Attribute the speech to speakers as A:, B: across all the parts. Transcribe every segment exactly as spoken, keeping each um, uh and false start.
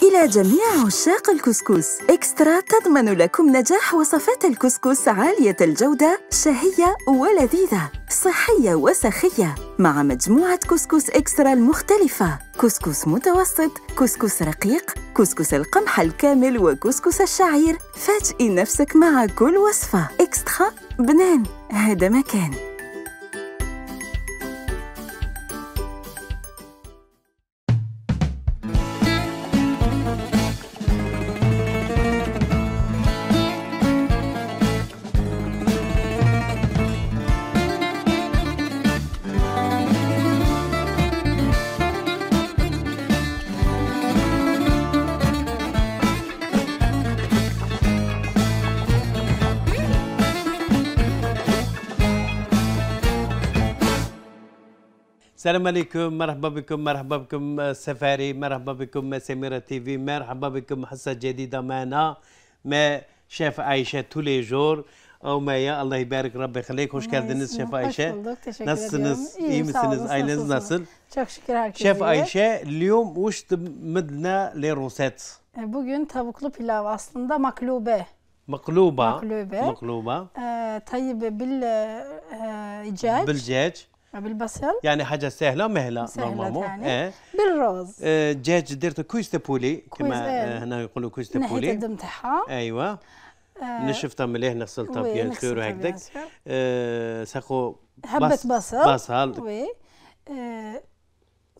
A: إلى جميع عشاق الكسكس، إكسترا تضمن لكم نجاح وصفات الكسكس عالية الجودة، شهية ولذيذة، صحية وسخية، مع مجموعة كسكس إكسترا المختلفة: كسكس متوسط، كسكس رقيق، كسكس القمح الكامل، وكسكس الشعير. فاجئي نفسك مع كل وصفة. إكسترا، بنان، هذا مكان.
B: السلام عليكم، مرحبا بكم مرحبا بكم سفاري، مرحبا بكم سميرة تي في، مرحبا بكم حصة جديدة معنا مع شيف عائشة تولي جور او مايا. الله يبارك ربي يخليك. واش كان الناس شيف عائشة؟ نص نص ايمس نص ايلنز نصل. شيف عائشة اليوم واش تمد لنا لي روسيت؟
C: Bugün tavuklu pilav aslında maklube.
B: مقلوبة
C: مقلوبة
B: مقلوبة
C: آه طيب بالدجاج
B: بالدجاج
C: بالبصل،
B: يعني حاجة سهلة مهلة
C: سهلة يعني
B: اه.
C: بالرز
B: دجاج درت كويس بولي كما آه هنا يقولوا كويس بولي
C: نحيت الدم تاعها.
B: ايوه آه نشفتها مليح، نغسلتها بيان سور هكذاك. آه ساقو
C: حبة بص بصل
B: بصل
C: وي آه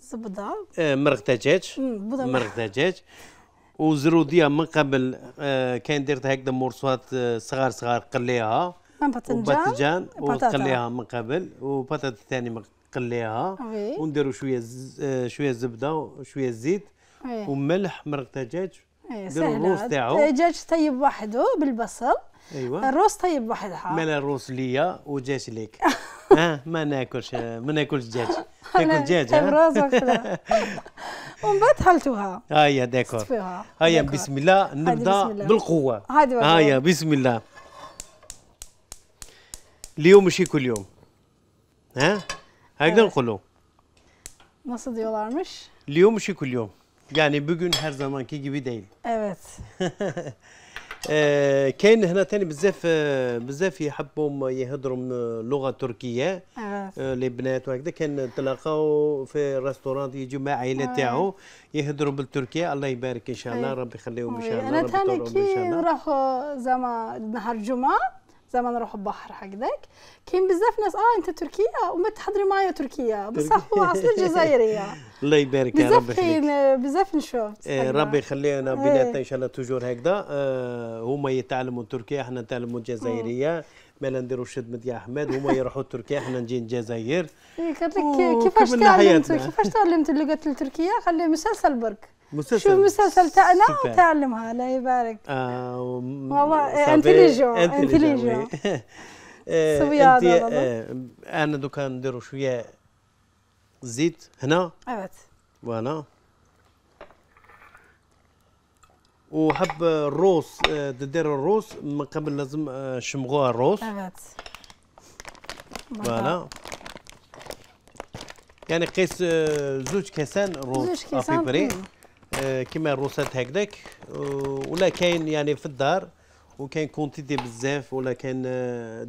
C: زبدة
B: آه مرق دجاج مرق دجاج وزروديه من قبل. آه كان درت هكذا مرصوات آه صغار صغار قليها وباذنجان وقليها من قبل، وبطاطا ثاني قليها، ونديروا شويه آه شويه زبده وشويه زيت وملح مرق دجاج. نديروا الروز تاعو.
C: الدجاج طيب وحده بالبصل.
B: ايوه
C: الروز طيب وحدها.
B: مالا الروز ليا ودجاج ليك. ها ما ناكلش ما ناكلش دجاج. تاكل دجاج ها؟
C: الروز وحده. ومن بعد حلتوها.
B: هيا داكور. هيا بسم الله نبدا بالقوه. هيا بسم الله. اليوم ماشي كل يوم. ها؟ هكذا نقولوا.
C: Nasıl diyorlarmış?
B: اليوم ماشي كل يوم. يعني bugün her zamanki gibi değil.
C: Evet.
B: آه كاين هنا ثاني بزاف آه بزاف يحبوا يهضروا لغه تركيه.
C: آه
B: البنات وهكذا كان تلاقاو في ريستوران يجوا مع عائله تاعو يهضروا بالتركيه. الله يبارك ان شاء الله، ربي يخليهم ان شاء الله.
C: انا ثاني كي نروحوا زعما نهار الجمعه زعما نروحوا البحر هكذاك كاين بزاف ناس اه انت تركيا وما تحضري معايا تركيا، بصح هو اصل الجزائريه.
B: الله يبارك يا ربي يخليك.
C: بزاف بزاف نشوف.
B: آه ربي يخلينا بيناتنا ان شاء الله توجور هكذا. آه هما يتعلموا تركيا، احنا نتعلموا الجزائريه. مالا نديروا شد يا احمد، هما يروحوا تركيا احنا نجي الجزائر.
C: قالت لك كيفاش تعلمت كيفاش تعلمت اللغه التركيه؟ خلي مسلسل برك.
B: مسلسل
C: شوف المسلسل تاعنا وتعلمها. الله يبارك.
B: آه
C: والله انتليجون انتليجون.
B: سويه هذا. انا دوكا نديروا شويه زيت هنا.
C: evet.
B: فوالا. وحب الروز تدير الروز من قبل لازم شمغوها الروز.
C: evet.
B: فوالا. يعني قيس زوج كاسان روز.
C: زوج كاسان
B: آه كيما الروسات هكذاك. ولا كاين يعني في الدار وكاين كونتيتي بزاف ولا كاين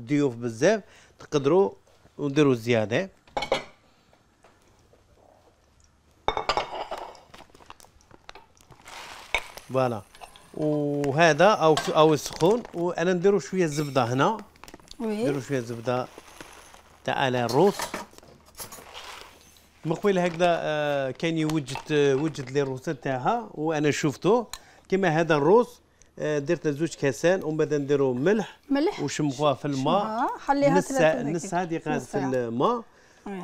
B: ضيوف بزاف تقدروا وديروا زياده. فوالا. وهذا او او السخون. وانا نديروا شويه زبده هنا. نديروا شويه زبده تاع على الروس. من قبيل هكذا آه كان يوجد آه وجد لي الروسات تاعها وانا شفته كيما هذا الروز. آه درت زوج كاسان ومن بعد نديروا ملح
C: ملح
B: وشمخوها في الماء.
C: خليها
B: نص ساعه نص ساعه دقيقه في الماء.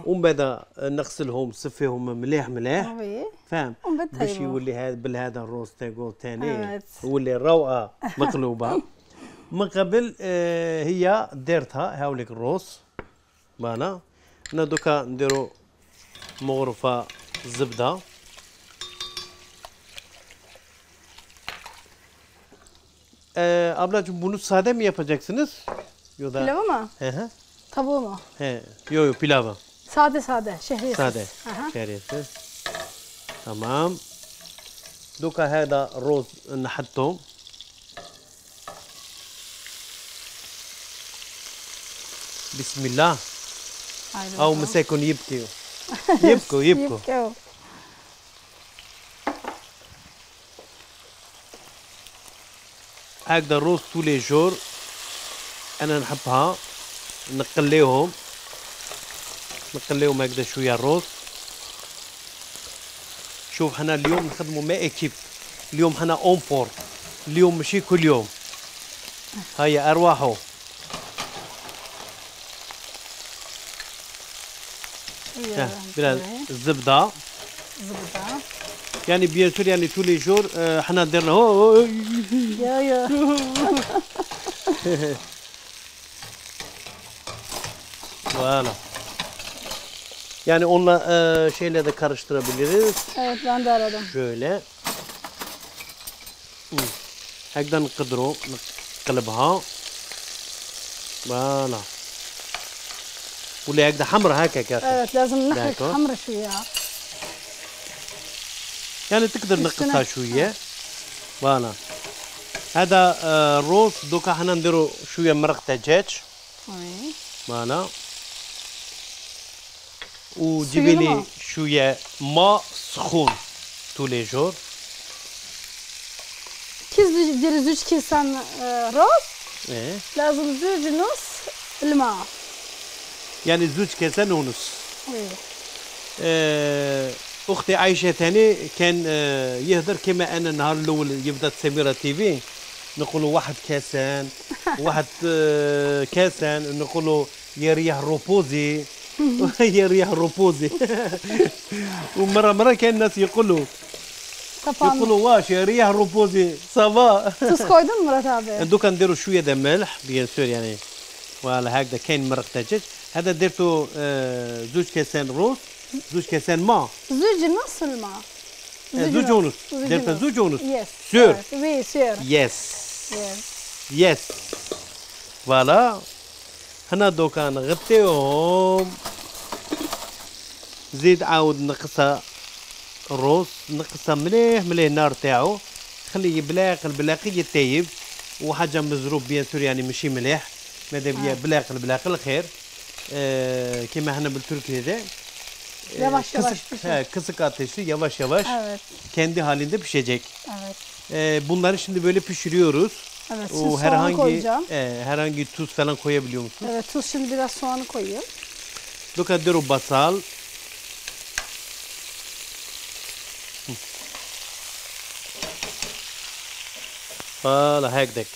B: ومن بعد نغسلهم نصفيهم مليح مليح. فاهم؟ باش يولي هذا بالهذا الروز تاعو ثاني يولي روعه مقلوبه. من قبل آه هي ديرتها هاوليك الروز. فوالا. انا دوكا نديروا مغرفه زبده. Ee, ablacığım bunu sade mi yapacaksınız? Yoda...
C: Pilavı mı?
B: Hı hı.
C: Tavuğu mu?
B: He, yo yo pilavı.
C: Sade sade, şehriyesiz.
B: Sade, şehriyesiz. Tamam. دوكا هذا الرز نحطهم. بسم الله. او مساكن يبكيو يبكوا يبكوا. هكذا الروز طول جور انا نحبها نقليهم نقليهم هكذا شويه الروز. شوف حنا اليوم نخدموا مع ايكيب، اليوم حنا اون فور، اليوم ماشي كل يوم. هيا ارواحوا. بلا الزبده
C: الزبده
B: يعني بيان سور يعني تو لي جور حنا درنا هو
C: يا يا
B: فوالا يعني قلنا آه şeyle de karıştırabiliriz.
C: Evet ben de aradım.
B: Şöyle. هكذا نقدروا نقلبها. فوالا. ولا هكذا حمرا هكا كاسة.
C: Evet لازم نحرك حمرا شوية.
B: يعني تقدر نقصها شوية. فوالا. هذا آه روز دوكا حنا نديرو شوية مرق دجاج.
C: وي.
B: فوالا. وجيبي لي شويه ماء سخون طول لي جور.
C: كي ديري زوج كيسان روز
B: ايه
C: لازم زوج نص الماء،
B: يعني زوج كيسان ونص.
C: ايه
B: آه اختي عايشه ثاني كان آه يهدر كما انا النهار الاول يبدا سميره تي في نقولوا واحد كاسان واحد آه كاسان نقولوا يا ريح روبوزي يا ريح روبوزي. ومره مره كان الناس يقولوا يقولوا واش يا ريح روبوزي صافا.
C: تس koydun Murat abi؟
B: دوكا نديروا شويه د ملح بيان سور يعني فوالا هكذا كاين مرق دجاج. هذا درتو آه زوج كاسان روز زوج كاسان ماء
C: زوج نص الماء
B: زوج ونص درت زوج ونص
C: يس
B: سور
C: وي سور
B: يس يس فوالا. هنا دوكا نغطيهم. زيد عاود نقصها الروز نقصها مليح مليح النار تاعو خليه يبلاق البلاقي يطيب وحاجه مزروب بيان سور يعني ماشي مليح ماذا بيا بلاق البلاق الخير. آه كيما حنا بالتركي هذا
C: yavaş yavaş
B: kısık ateşte yavaş yavaş
C: evet.
B: kendi halinde pişecek.
C: Evet.
B: Ee, bunları şimdi böyle pişiriyoruz.
C: Evet,
B: o herhangi e, herhangi tuz falan koyabiliyor musunuz?
C: Evet, tuz şimdi biraz soğanı koyuyor.
B: Doka dero basal. فوالا هكذاك.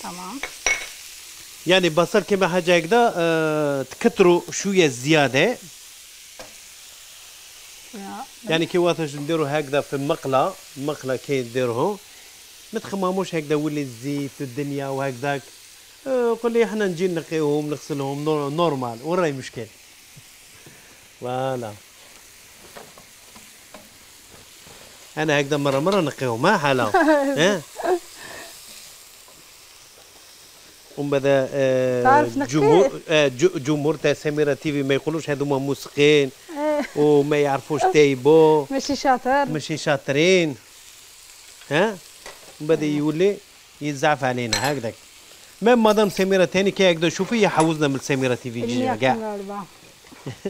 C: تمام.
B: يعني بصل كما حاجه هكذا أه تكتروا شويه زياده. يعني كي واش نديروا هكذا في المقله المقله كي نديروه ما تخمموش هكذا ولي الزيت الدنيا وهكذاك. أه قول لي احنا نجي نقيوهم نغسلهم نورمال وين راهي مشكل. فوالا انا هكذا مره مره نقيهم ها حاله ها. ومن بعد آه جمهور آه جمهور تاع سميره تيفي ما يقولوش هذوما موسقين وما يعرفوش تايبو
C: ماشي شاطر
B: ماشي شاطرين ها. ومن بعد يولي يزعف علينا هكذاك. مام مدام سميره ثاني كي هكذا شوفي يحوزنا من سميره تيفي كاع.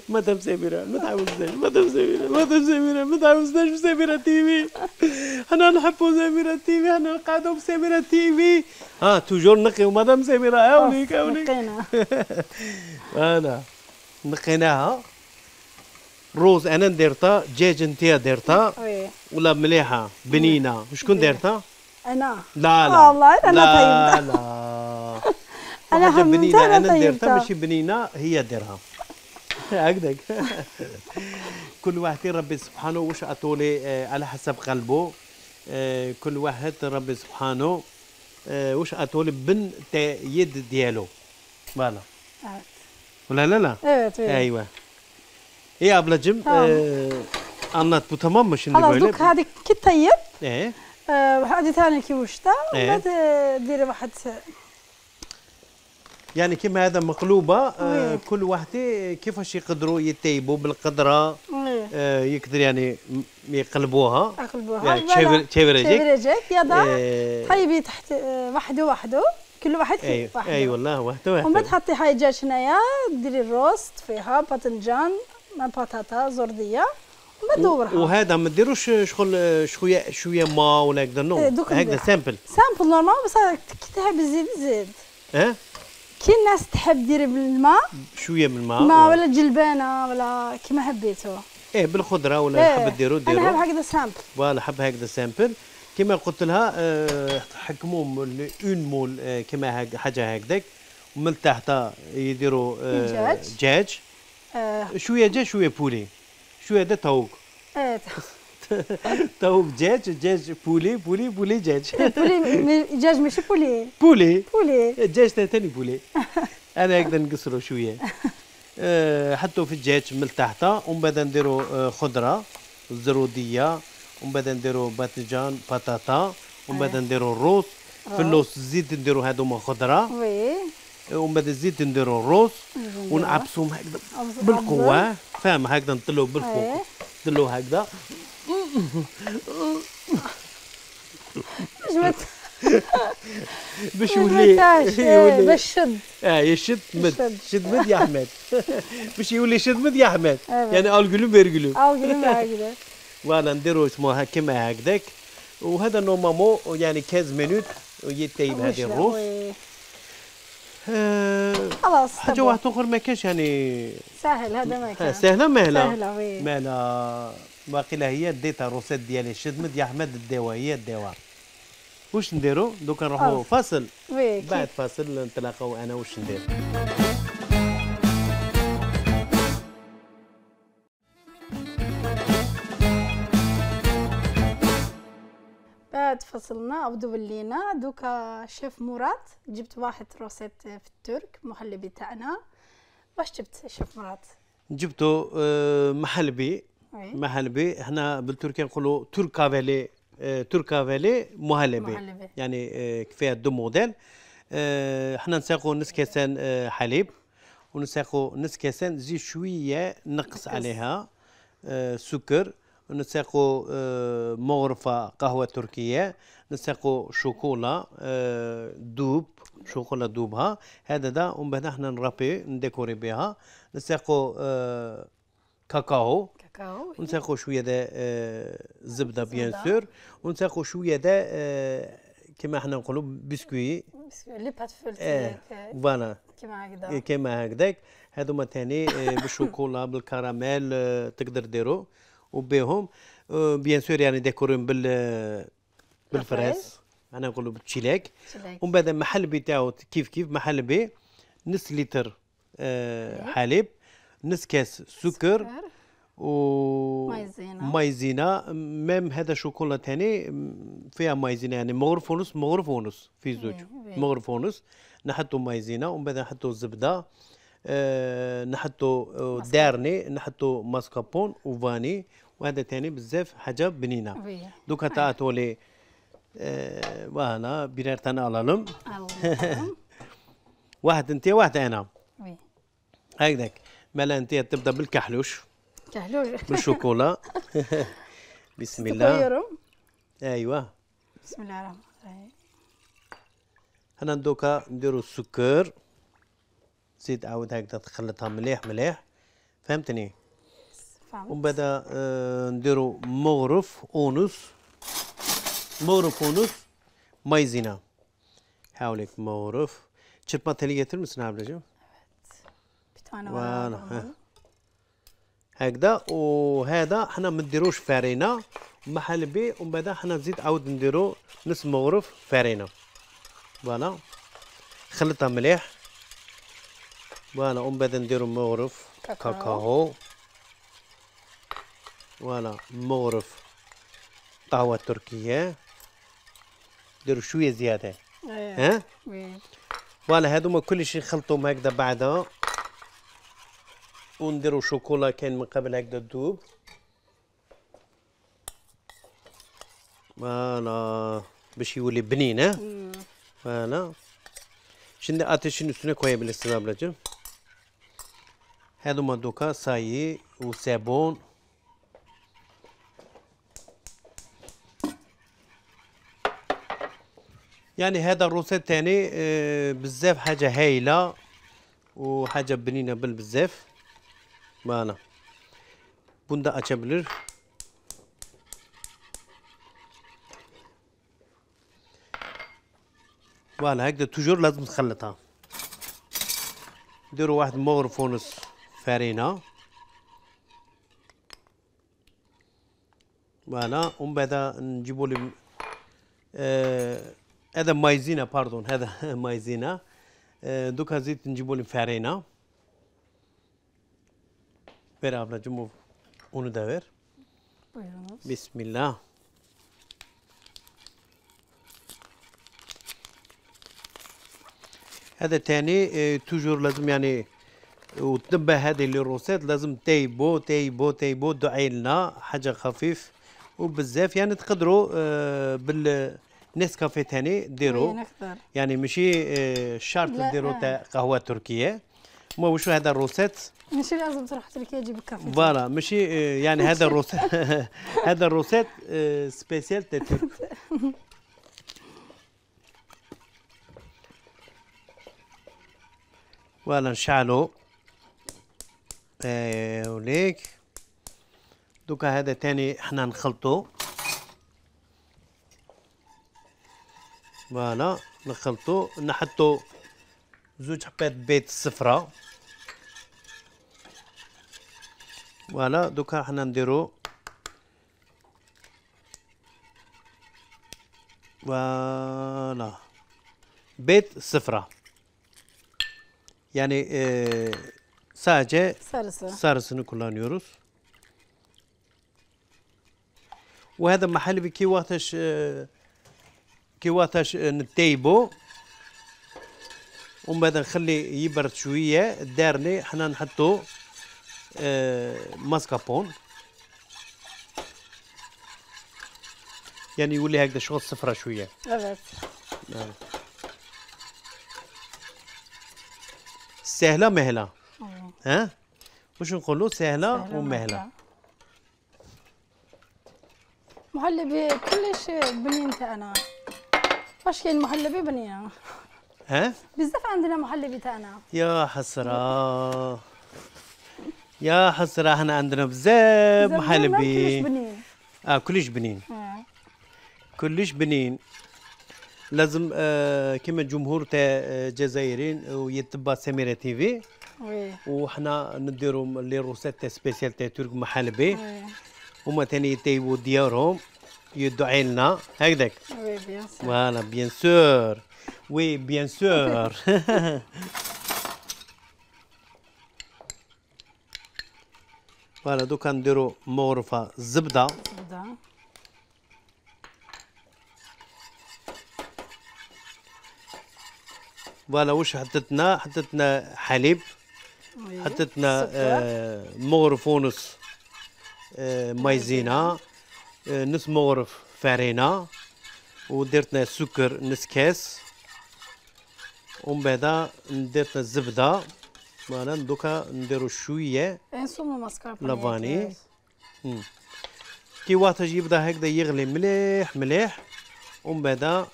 B: مدام سميره ما تعوزناش مدام سميره مدام سميره ما تعوزناش بسميره تيفي. حنا نحبوا سميره تيفي حنا نقعدوا بسميره تيفي. اه توجور نقيو مدام سميره هاوليك هاوليك.
C: نقينا
B: انا نقيناها. روز انا درتها دجاج انت درتها ولا مليحه بنينه. وشكون درتها؟
C: انا
B: لا لا
C: والله انا
B: لا
C: طيبه.
B: لا
C: انا
B: بنينه انا درتها ماشي بنينه هي ديرها هكذاك. كل واحد ربي سبحانه واش عطولي على حسب قلبه. كل واحد ربي سبحانه واش عطولي بن يد ديالو. فوالا ولا لا لا ايوه ايه ابلacım anlat bu tamam mı şimdi böyle?
C: خلاص هذه كي طيب
B: ايه
C: هذه ثاني كي وشتا وبعد ديري واحد
B: يعني كيما هذا مقلوبه آه كل واحد كيفاش يقدروا يطيبوا بالقدره. آه يقدر يعني يقلبوها
C: يقلبوها
B: يعني تشيفر
C: تشيفرجك يلا آه طيبي تحت آه وحده وحده كل واحد
B: أيوة.
C: وحده
B: اي والله وحده وحده
C: ومن بعد تحطي هاي الدجاج هنايا ديري الروست فيها باذنجان مع بطاطا زرديه ومدورها
B: وهذا ما ديروش شغل شويه شويه ما ولا هكذا نو هكذا سامبل
C: سامبل نورمال بس كي تحب تزيد زيد
B: اه
C: كي الناس تحب ديري بالماء
B: شويه من الماء
C: ما ولا جلبانه ولا كيما حبيتو
B: ايه بالخضره ولا
C: إيه.
B: حب ديرو ديرو
C: انا حب هكذا سامبل
B: فوالا حب هكذا سامبل كيما قلت لها أه حكموا اون مول أه كيما حاجه هكذاك ومن تحت يديروا أه دجاج أه شويه دجاج شويه بولي شويه هذا توق
C: ايه
B: توق دجاج دجاج بولي بولي بولي دجاج
C: بولي دجاج ماشي بولي
B: بولي
C: بولي
B: الدجاج ثاني بولي انا هكذا نقصروا شويه أه حطوا في الدجاج من تحت ومن بعد نديروا أه خضره زروديه ومن بعد نديروا باذنجان بطاطا ومن بعد نديروا الروز في اللوز الزيت نديروا هذوما خضره
C: وي
B: ومن بعد الزيت نديروا الروز ونعبسوهم هكذا بالقوه فاهم هكذا نطلوا بالفوق نطلوا هكذا باش يولي
C: باش شد
B: اه يشد مد شد مد يا احمد باش يولي شد مد يا احمد يعني اول قلوب يرقلوب
C: اول قلوب هكذا
B: فوالا نديروا اسمها كيما هكذاك وهذا نورمالمون يعني خمسطاش مينوت يطيب هذه الروز
C: خلاص
B: حاجه واحده اخرى ما كاش يعني
C: سهل هذا ما كان
B: سهله مهله
C: سهله وي
B: مهله باقي لها هي ديتها الروسيت ديالي شدمت يا احمد الدواء هي الدواء واش نديروا دوكا نروحوا فاصل بعد فاصل نتلاقاو انا واش ندير
C: بعد فصلنا بدو ولينا دوكا شيف مراد جبت واحد روسيت في الترك محلبي تاعنا واش جبت شيف مراد
B: جبتو محلبي محلبي احنا بالتركيا نقولوا تركافيلي تركافيلي مهلبي يعني فيها دو موديل احنا نساقوا نص كاسان حليب ونساقوا نص كاسان زيت شويه نقص عليها سكر ونساقوا مغرفه قهوه تركيه نساقوا شوكولا دوب شوكولا دوبها هذا دا ومن بعد احنا نرابي نديكوري بها نساقوا كاكاو
C: كاكاو
B: ونساقوا شويه دا زبده بيان سور ونساقوا شويه دا كما احنا نقولوا بسكوي
C: بسكوي لي بات فولتي
B: فوالا
C: كما هكذا
B: كما هكذاك هذوما ثاني بالشوكولا بالكراميل تقدر ديرو وبيهم بيان سور يعني ديكورين بال بالفراس انا نقولوا بالتشيلاك ومن بعد محل بتاعو كيف كيف محل بي نص لتر حليب نص كاس سكر و
C: مايزينا
B: مايزينا ميم هذا شوكولا ثاني فيها مايزينا يعني مغرف ونص مغرف ونص في زوج مغرف ونص نحطوا مايزينا ومن بعد نحطوا الزبده أه نحطوا دارني نحطوا ماسكابون وفاني وهذا ثاني بزاف حاجه بنينه دوكا تعطوا لي أه وانا بيرتنا الالم واحد انت واحد انا هكذاك مالا انت تبدا بالكحلوش
C: كحلوش
B: بالشوكولا بسم الله ايوه
C: بسم الله الرحمن الرحيم
B: انا دوكا نديرو السكر زيد عاود هكذا تخلطها مليح مليح فهمتني
C: فهمت
B: ومن بعد آه نديرو مغرف ونص مغرف ونص مايزينا حاولك مغرف تشربات هليه تلمس نعم رجل فوالا هكذا وهذا حنا ما نديروش فارينه محل بي ومن بعد حنا نزيد عاود نديرو نص مغرف فارينه فوالا خلطها مليح فوالا ومن بعد نديرو مغرف كاكاو, كاكاو. فوالا مغرف قهوه تركيه نديرو شويه زياده ها فوالا هذوما كلشي نخلطوهم هكذا بعدها ونديرو شوكولا كاين من قبل هكذا تذوب فوالا باش يولي بنين ها فوالا شنو اتي شنو شنو كويس بالاستمرار بلاجم هذوما دوكا صايي وصابون يعني هذا الروسيت تاني آه بزاف حاجه هايله وحاجه بنينه بالبزاف. فوالا بوندا اتشابلر فوالا هكذا توجور لازم تخلطها. نديرو واحد مغرف ونص فرينه فوالا، ومن بعد نجيبو لي آه هذا مايزينا باردون هذا مايزينا. آه دوكا زيت نجيبو لي فرينه بيرا بلا جمو اونو داير. بسم الله. هذا تاني اه توجور لازم يعني وتنبه هذه اللي روسيت لازم تيبو تيبو تيبو دعي لنا حاجه خفيف وبزاف. يعني تقدروا اه بالنسكافيه تاني ديروا يعني ماشي اه شرط ديروا تاع قهوه تركيه. ما وشو هذا الروسيت
C: ماشي لازم تروح تركيا تجيب الكافي.
B: فوالا ماشي اه يعني هذا الروسيت هذا الروسيت اه سبيسيال تاع ترك. فوالا نشعلو ايه وليك. دوكا هذا تاني احنا نخلطو. فوالا نخلطو نحطو زوج حبات بيض صفرا. فوالا دوكا احنا نديرو فوالا بيض صفرا yani e, sadece
C: sarısı.
B: sarısını kullanıyoruz. وهذا محل كي وقتاش كي وقتاش نتيبو ومن بعد نخلي يبرد شويه دارني حنا نحطو ماسكابون يعني يولي هكذا شغل صفرة شويه.
C: evet.
B: سهله مهله. ها واش نقولوا سهله ومهله.
C: محلبي كلش بنين تاعنا. واش كاين محلبي بنينه.
B: ها
C: بزاف عندنا محلبي تاعنا.
B: يا حسره يا حسره احنا عندنا بزاف محلبي.
C: كلش بنين.
B: اه كلش بنين.
C: آه.
B: كلش بنين. لازم آه كما الجمهور تاع الجزائريين ويتبع سميرة تيفي.
C: وي.
B: وحنا نديرو لي روسيت تاع سبيسيال تاع ترك محلبي. هما تاني يطيبوا ديارهم يدعي لنا هكذاك.
C: وي بيان سور.
B: فوالا بيان سور. وي بيان سور. فوالا دوكا نديرو مغرفة زبدة.
C: زبدة.
B: فوالا واش حطيتنا حطيتنا حليب. حطيتنا آه مغرف ونص آه مايزينا آه نص مغرف فرينة ودرتنا سكر نص كاس ومن بعد درتنا الزبدة. فوالا دوكا نديرو شوية لافاني كي وقتاش يبدا هكذا يغلي مليح مليح ومن بعد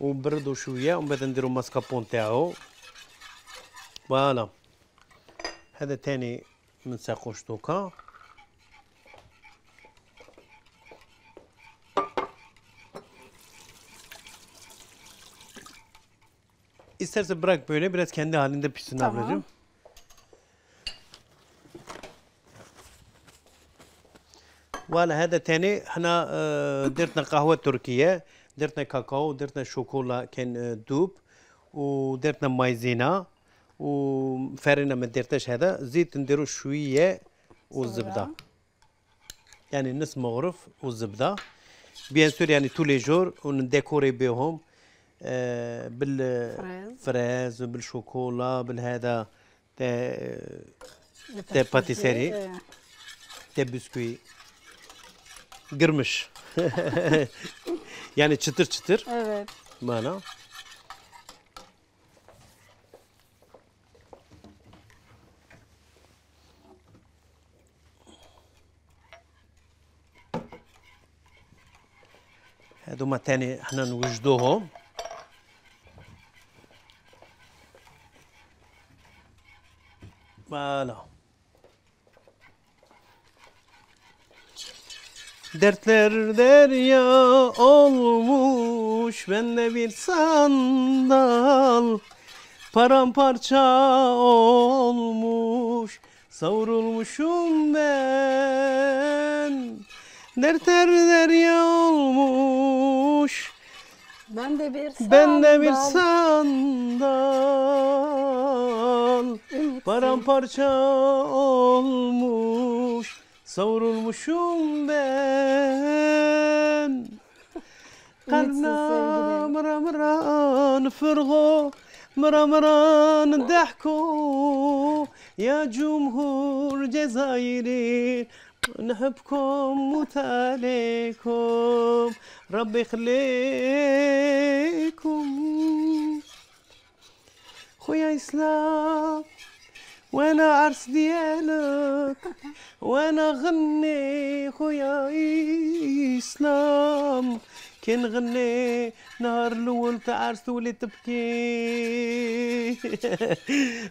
B: وبردو شويه ومن بعد نديرو ماسكابون تاعو. فوالا هذا تاني منساقوش دوكا. İstersen bırak böyle biraz kendi halinde pişsin
C: tamam.
B: Ablacığım. فوالا هذا تاني احنا درتنا قهوة تركية درتنا كاكاو درتنا شوكولا كان دوب ودرتنا مايزينا وفارينة ما درتاش هذا زيت نديرو شوية والزبدة يعني نص مغرف والزبدة بيان سور يعني تو لي جور ونديكوري بهم آه بالفراز بالشوكولا بالهذا تاع تاع باتيسيري تاع بسكوي قرمش يعني çıtır çıtır.
C: Evet.
B: Bana. هذوما تاني احنا نوجدوهم فوالا. Dertler derya olmuş, bende bir sandal. Paramparça olmuş, savrulmuşum ben. Dertler derya olmuş,
C: ben de bir sandal.
B: Ben de bir sandal. Paramparça olmuş, savrulmuşum ben. Kalbna mıra mıra nfırgo, mıra mıra ndahku. Ya Cumhur Cezayir'i نحبكم موت عليكم ربي يخليكم خويا إسلام وانا عرس ديالك وانا غني خويا إسلام كي نغني نهار الاول تاع عرس تولي تبكي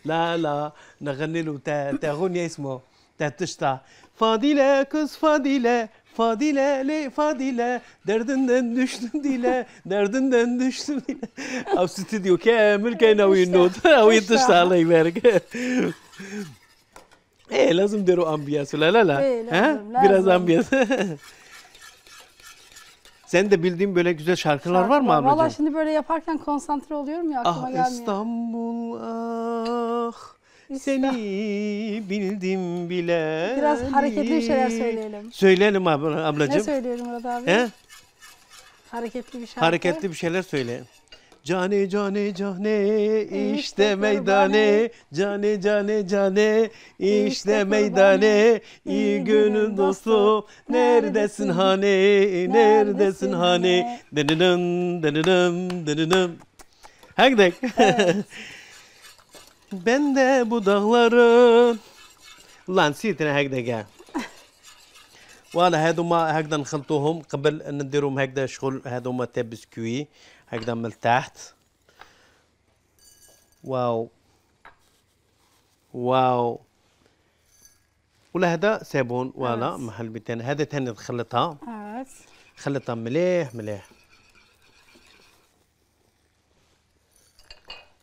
B: لا لا نغني له تاع تاع غنية اسمه تاع تشطى Fadile kız Fadile, Fadile le Fadile, derdinden düştüm dile, derdinden düştüm dile. Av stüdyo كامل كاين وين النوت وين تشتغل الله يبارك. ايه لازم نديروا امبياس ولا لا لا؟ ها؟ biraz ambiyans. Sen de bildiğin böyle güzel şarkılar Şarkı var mı ablacığım?
C: Valla şimdi böyle yaparken konsantre oluyorum ya aklıma
B: ah,
C: gelmiyor.
B: İstanbul ah. Seni bildim bile.
C: Biraz hareketli bir şeyler söyleyelim.
B: Söyleyelim abla, ablacığım.
C: Ne söyleyelim Murat abi?
B: He?
C: Hareketli bir şarkı.
B: Hareketli bir şeyler söyle. Cane cane cane işte meydane, cane cane cane işte meydane, iyi gönül dostu neredesin hani, neredesin hani, dınınım dınınım dınınım. Hadi. Ben de bu dağların والله نسيت انا هكذا كاع فوالا هادوما هكذا نخلطوهم قبل ان نديروهم هكذا شغل هادوما تاع بسكوي هكذا من التحت واو واو ولا هذا صابون فوالا محل بتاني هذا تاني نخلطها خلطها مليح مليح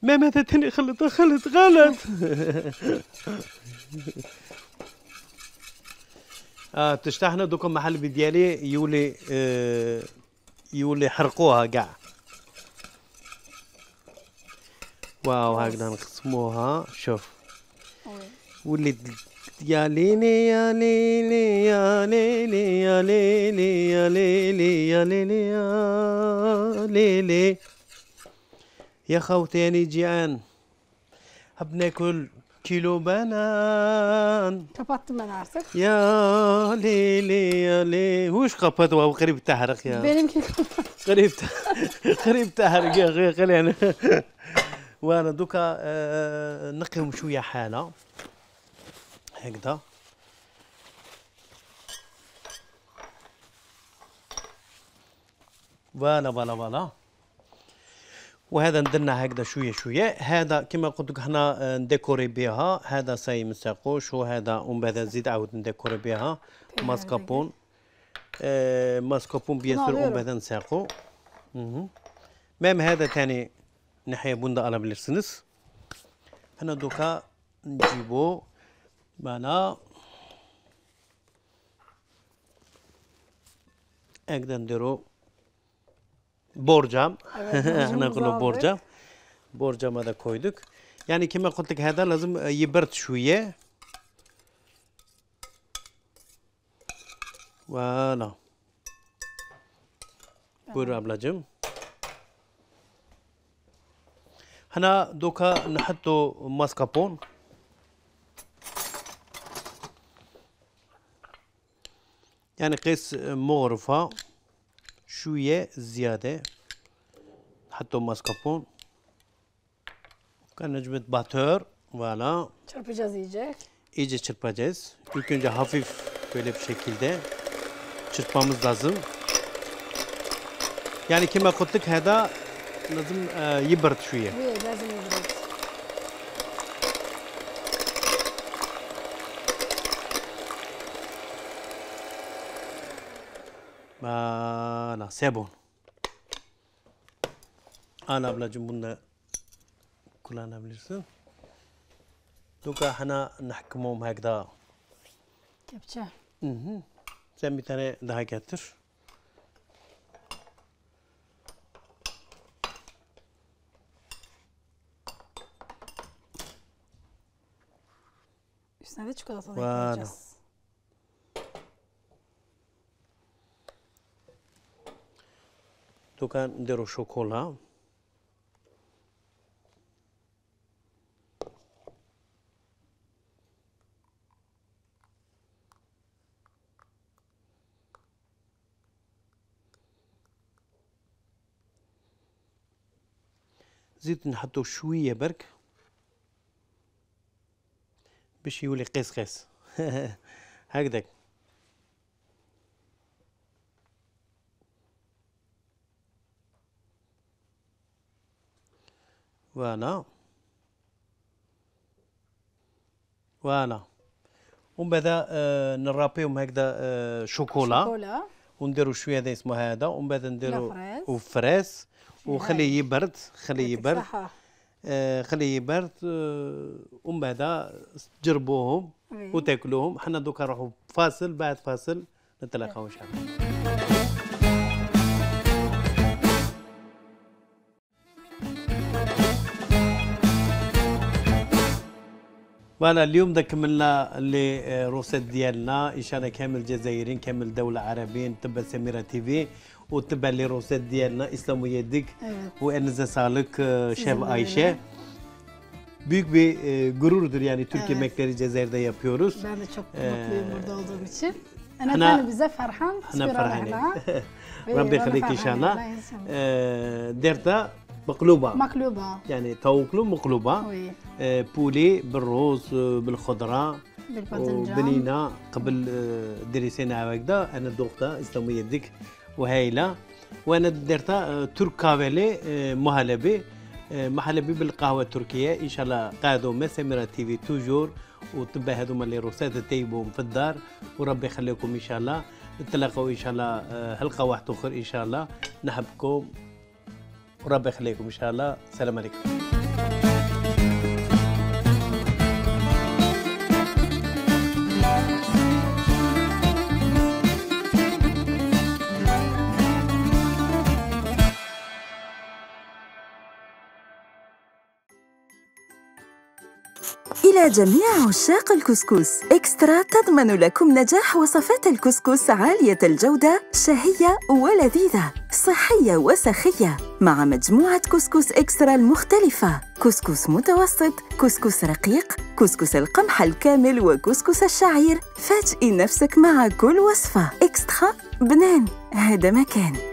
B: ما ماذا تاني خلط خلط غلط اه تشتحنا دوكا محل بديالي يولي آه يولي حرقوها كاع واو هكذا نقسموها شوف ولي يا ليلي يا ليلي يا ليلي يا ليلي يا ليلي يا ليلي يا ليلي يا خوتي أنا جيعان حب ناكل كيلو بنان.
C: Kapattım ben artık.
B: يا ليلي يا ليلي وش قبض وهو قريب تحرق يا
C: benimki
B: قريب قريب تحرق يا اخي خلينا وانا دوكا آه نقيهم شويه حاله هكذا فوالا فوالا فوالا وهذا ندرنا هكذا شويه شويه. هذا كما قلت لك هنا نديكوري بها. هذا ساي من ساقوش وهذا ومن بعد نزيد عاود نديكوري بها ماسكابون آه ماسكابون بيان سور ومن بعد نساقو. ميم هذا ثاني نحيا بوندا على بلرسنس. هنا دوكا نجيبو معنا هكذا نديرو borcam. احنا نقولوا borcam. borcama da koyduk. Yani كما قلت لك هذا لازم يبرد شويه. فوالا. بور ablacığım. هنا دوكا نحطوا ماسكابون. يعني قيس مغرفه شوية زيادة نحطو ماسكابون كان نجمة باتور فوالا
C: çırpacağız iyice.
B: İyice çırpacağız. İlk önce hafif böyle bir şekilde çırpmamız lazım. Yani كما قلت لك هذا لازم يبرد شوية.
C: لازم يبرد.
B: فوالا سي بون. انا بلا جنبنا كلنا بليرسن دوكا حنا نحكمهم هكذا
C: كبشه.
B: اها سامي تاني ده كاتر
C: üstüne de çikolata da
B: Voilà.
C: ekleyeceğiz.
B: دوكا نديرو شوكولا. زيت نحطو شويه برك باش يولي قيس قيس هكذاك. فوالا فوالا ومن بعد آه نرابيهم هكذا آه شوكولا,
C: شوكولا
B: ونديرو شويه هذا اسمه هذا، ومن بعد نديرو وفريس وخليه يبرد خليه يبرد آه خليه يبرد آه ومن بعد تجربوهم وتاكلوهم. حنا دوكا نروحوا فاصل، بعد فاصل نتلاقاو ان شاء الله. فوالا اليوم دا كملنا اللي روسيت ديالنا ان شاء الله كامل الجزائريين كامل دولة عربيين تبع سميرة تيفي وتبع لي روسيت ديالنا اسلام يدك وانزا صالك شيف عايشه büyük bir e, gururdur yani Türk evet. Yemekleri Cezayir'de yapıyoruz.
C: Ben de çok mutluyum ee, burada olduğum için. أنا أنا bize فرحان
B: احنا فرحانين ربي يخليك إن شاء الله. ديرتا مقلوبة
C: مقلوبة
B: يعني توكلو مقلوبة آه بولي بالروز بالخضرة بالبنينة قبل دريسينا هكذا. أنا دوقتها إسلام يدك وهايلة. وأنا درتها ترك كافيلي مهلبي محلبي بالقهوة التركية إن شاء الله. قاعدوا مع سميرة تيفي توجور وتبع هذوما اللي روسات تطيبهم في الدار وربي يخليكم إن شاء الله. نتلاقوا إن شاء الله حلقة واحدة أخرى إن شاء الله. نحبكم وربي يخليكم إن شاء الله. السلام عليكم.
A: إلى جميع عشاق الكسكس، إكسترا تضمن لكم نجاح وصفات الكسكس عالية الجودة، شهية ولذيذة، صحية وسخية، مع مجموعة كسكس إكسترا المختلفة: كسكس متوسط، كسكس رقيق، كسكس القمح الكامل، وكسكس الشعير. فاجئي نفسك مع كل وصفة. إكسترا بنان، هذا مكان.